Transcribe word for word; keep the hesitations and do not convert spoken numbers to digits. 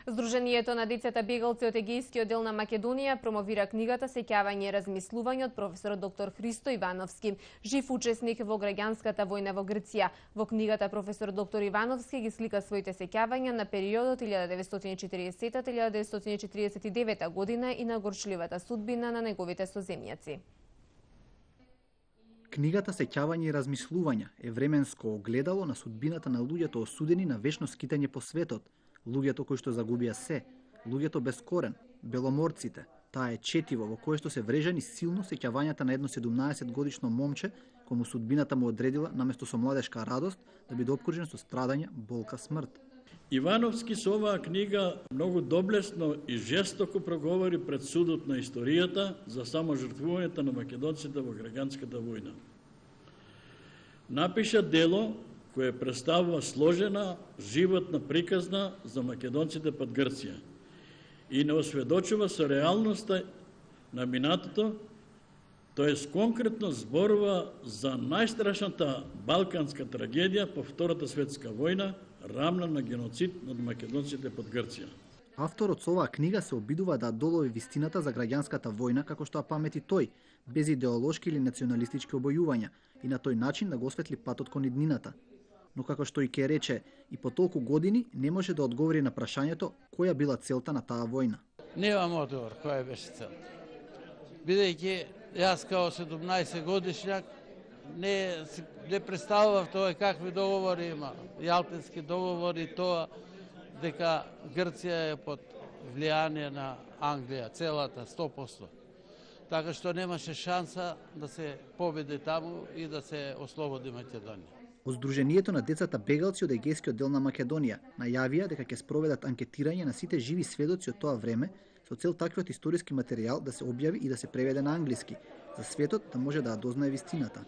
Здруженијето на децата бегалци од Егејскиот дел на Македонија промовира книгата Сеќавање и размислување од професорот доктор Христо Ивановски, жив учесник во граѓанската војна во Грција. Во книгата професор доктор Ивановски ги слика своите сеќавања на периодот илјада деветстотини и четиридесета до илјада деветстотини и четиридесет и девета година и на горчливата судбина на неговите соземјаци. Книгата Сеќавање и размислување е временско огледало на судбината на луѓето осудени на вечно скитање по светот, луѓето кои што загубија се, луѓето без корен, беломорците. Таа е четиво во кое што се врежани силно сеќавањата на едно седумнаесет годишно момче кому судбината му одредила наместо со младешка радост да биде обкружен со страдање, болка, смрт. Ивановски со оваа книга многу доблесно и жестоко проговори пред судот на историјата за саможртвувањето на македонците во граѓанската војна. Напиша дело кое представува сложена, животна приказна за македонците под Грција и не осведочува со реалноста на минатото, тоест конкретно зборува за најстрашната балканска трагедија по Втората светска војна, рамна на геноцид над македонците под Грција. Авторот со оваа книга се обидува да долови вистината за граѓанската војна како што ја памети тој, без идеолошки или националистички обојувања и на тој начин да го осветли патот кон иднината. Но како што и ке рече, и по толку години не може да одговори на прашањето која била целта на таа војна. Немам одговор која беше целта. Бидејќи јас као седумнаесет годишњак не не представував тоа какви договори има, Јалтински договори, тоа дека Грција е под влијание на Англија, целата сто проценти. Така што немаше шанса да се победи таму и да се ослободи Македонија. Од Здруженијето на децата бегалци од Егејскиот дел на Македонија најавија дека ќе спроведат анкетирање на сите живи сведоци од тоа време со цел таквиот историски материјал да се објави и да се преведе на англиски, за светот да може да ја дознае вистината.